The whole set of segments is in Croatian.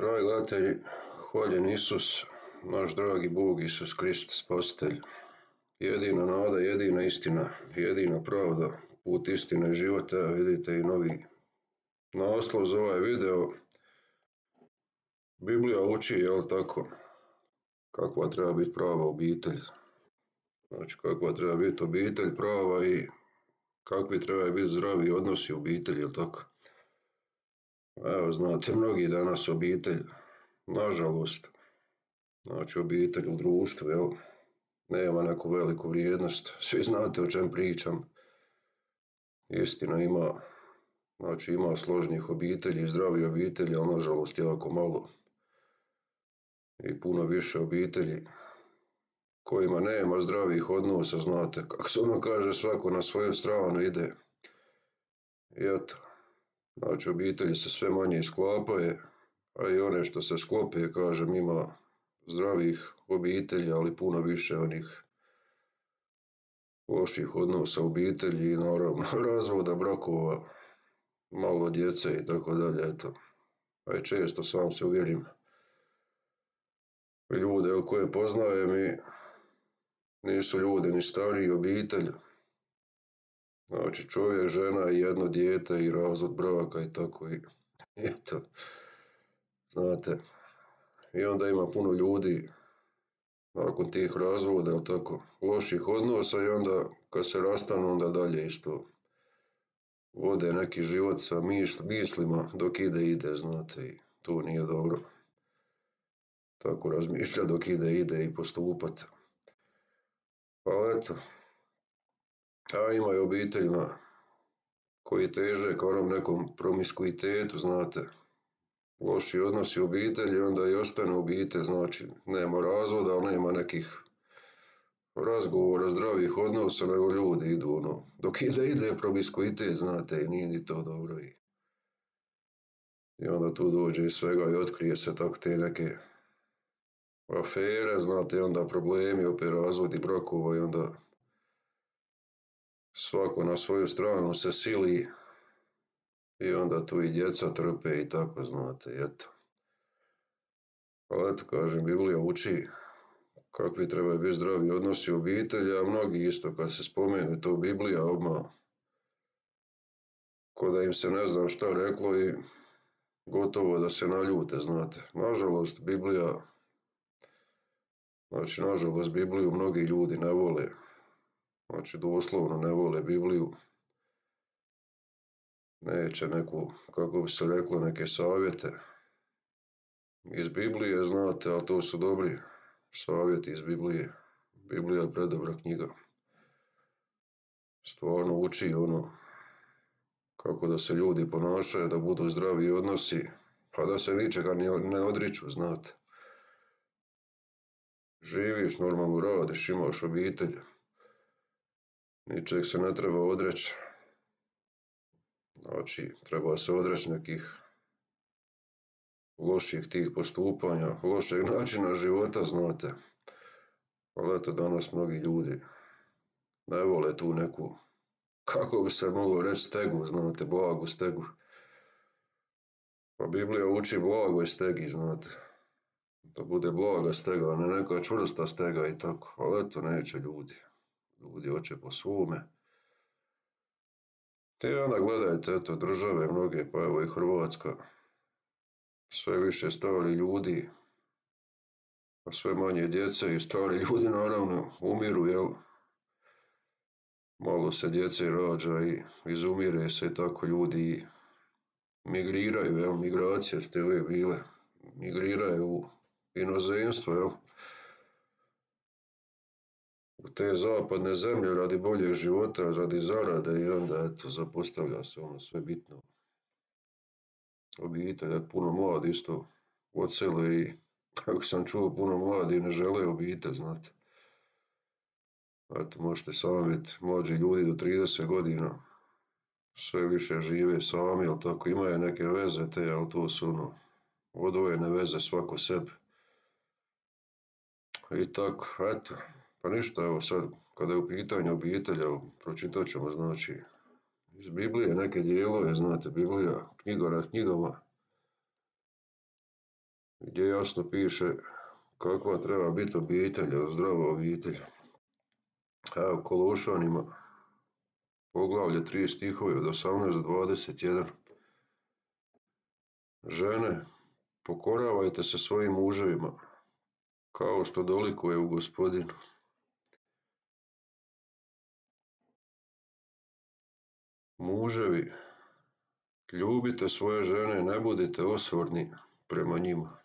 Dragi gledatelji, hvaljen Isus, naš dragi Bog Isus Krist, spasitelj. Jedina nada, jedina istina, jedina pravda, put istine i života. Evo vidite i novi naslov za ovaj video. Biblija uči, jel tako, kakva treba biti prava obitelj. Znači, kakva treba biti obitelj prava i kakvi trebaju biti zdravi odnosi u obitelji, jel tako. Evo, znate, mnogi danas obitelj, nažalost, znači obitelj u društvu, jel, nema neku veliku vrijednost. Svi znate o čem pričam. Istina ima, znači ima složnih obitelji, zdravih obitelji, ali nažalost jako malo. I puno više obitelji kojima nema zdravih odnosa, znate, kako se ono kaže, svako na svoju stranu ide. I eto, znači obitelji se sve manje sklapaju, a i one što se sklope, kažem, ima zdravih obitelji, ali puno više onih loših odnosa u obitelji i naravno razvoda, brakova, malo djece i tako dalje, eto. A i često sam se uvjerim ljude koje poznajem i nisu ljudi ni stariji obitelj. Znači čovjek, žena i jedno dijete i razvod braka i tako i eto. Znate, i onda ima puno ljudi nakon tih razvoda, jel tako, loših odnosa i onda kad se rastanu onda dalje isto vode neki život sa mislima dok ide, znate, i to nije dobro. Tako razmišlja dok ide i postupat. Ali eto, a ima i obiteljima koji teže ka onom nekom promiskuitetu, znate, loši odnosi u obitelji, onda i ostane obitelj, znači nema razvoda, ali nema nekih razgovora, zdravih odnosa, nego ljudi idu ono, dok ide promiskuitet, znate, i nije ni to dobro. I onda tu dođe iz svega i otkrije se tako te neke afere, znate, i onda problemi, opet razvodi brakova i onda svako na svoju stranu se sili i onda tu i djeca trpe i tako, znate, eto. Ali eto, kažem, Biblija uči kakvi trebaju biti zdravi odnosi u obitelji, a mnogi isto kad se spomene to Biblija odmah ko da im se ne znam šta reklo i gotovo da se naljute, znate. Nažalost, Bibliju mnogi ljudi ne vole. Znači, doslovno ne vole Bibliju. Neće neku, kako bi se reklo, neke savjete iz Biblije, znate, ali to su dobri savjeti iz Biblije. Biblija je predobra knjiga. Stvarno uči ono kako da se ljudi ponašaju, da budu zdravi odnosi, pa da se ničega ne odriču, znate. Živiš, normalno radiš, imaš obitelj, ničeg se ne treba odreći. Znači, treba se odreći nekih loših tih postupanja, lošeg načina života, znate. Ali eto, danas mnogi ljudi ne vole tu neku, kako bi se moglo reći, stegu, znate, blagu stegu. Pa Biblija uči blagoj stegi, znate. Da bude blaga stega, a ne neka čvrsta stega i tako. Ali eto, neće ljudi. Ljudi hoće po svome. Te onda gledajte, eto, države mnoge, pa evo i Hrvatska. Sve više stari ljudi, a sve manje djece i stari ljudi naravno umiru, jel? Malo se djece rađa i izumire se, tako ljudi migriraju, jel? Migracije ste uvijek bile. Migriraju u inozemstvo, jel? U te zapadne zemlje radi boljeg života, radi zarade i onda eto zapostavlja se ono sve bitno. Obitelj, puno mladi isto odsele i kako sam čuo, puno mladi ne žele obitelj, znate. Eto, možete sami vidjeti, mlađi ljudi do 30 godina sve više žive sami, ali tako imaju neke veze te, ali to su ono odvojene veze svako sebi. I tako, eto, pa ništa, evo sad, kada je u pitanju obitelj, evo, pročitat ćemo, znači, iz Biblije neke dijelove, znate, Biblija, knjiga na knjigama, gdje jasno piše kakva treba biti obitelj, zdrava obitelj. Evo, Kološanima, poglavlje 3 stihovi od 18 do 21. Žene, pokoravajte se svojim muževima, kao što dolikuje u Gospodinu. Muževi, ljubite svoje žene, ne budite osvorni prema njima.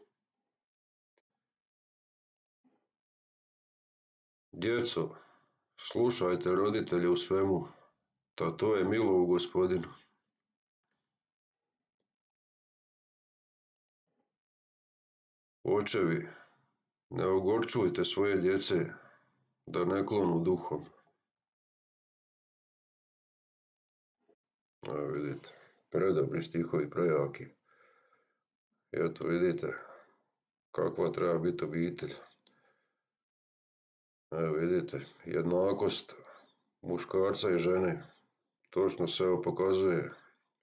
Djeco, slušajte roditelje u svemu, to je milo u Gospodinu. Očevi, ne ogorčujte svoje djece, da ne klonu duhom. Evo vidite, predobri stihovi, prejaki. Eto vidite kakva treba biti obitelj. Evo vidite, jednakost muškarca i žene. Točno se ovo pokazuje.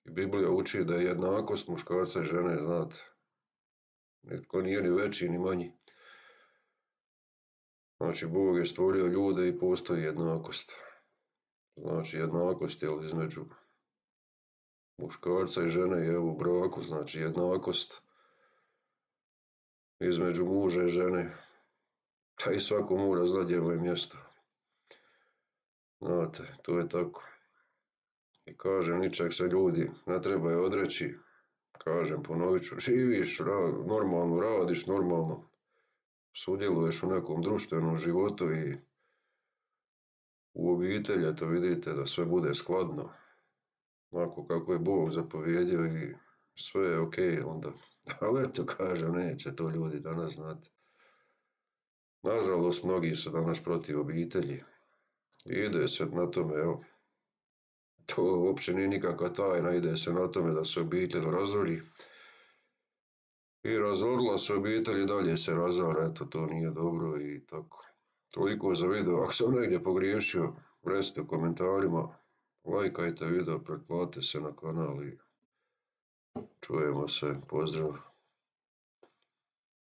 I Biblija uči da je jednakost muškarca i žene, znate. Nitko nije ni veći ni manji. Znači, Bog je stvorio ljude i postoji jednakost. Znači, jednakost je između muškarca i žene je u braku, znači jednakost između muža i žene. Pa i svako mora znati gdje mu je mjesto. Znate, to je tako. I kažem, ničeg se ljudi ne trebaju odreći. Kažem, ponovit ću, živiš normalno, radiš normalno, sudjeluješ u nekom društvenom životu i u obitelji, to vidite da sve bude skladno, onako kako je Bog zapovjedio i sve je ok onda. Ali eto, kažem, neće to ljudi danas znati. Nažalost, mnogi su danas protiv obitelji. Ide se na tome, evo, to uopće nije nikakva tajna, ide se na tome da se obitelj razori. I razorila se obitelj i dalje se razara, eto, to nije dobro i tako. Toliko za video, ako sam negdje pogriješio, recite u komentarima, lajkajte video, pretplatite se na kanal i čujemo se, pozdrav.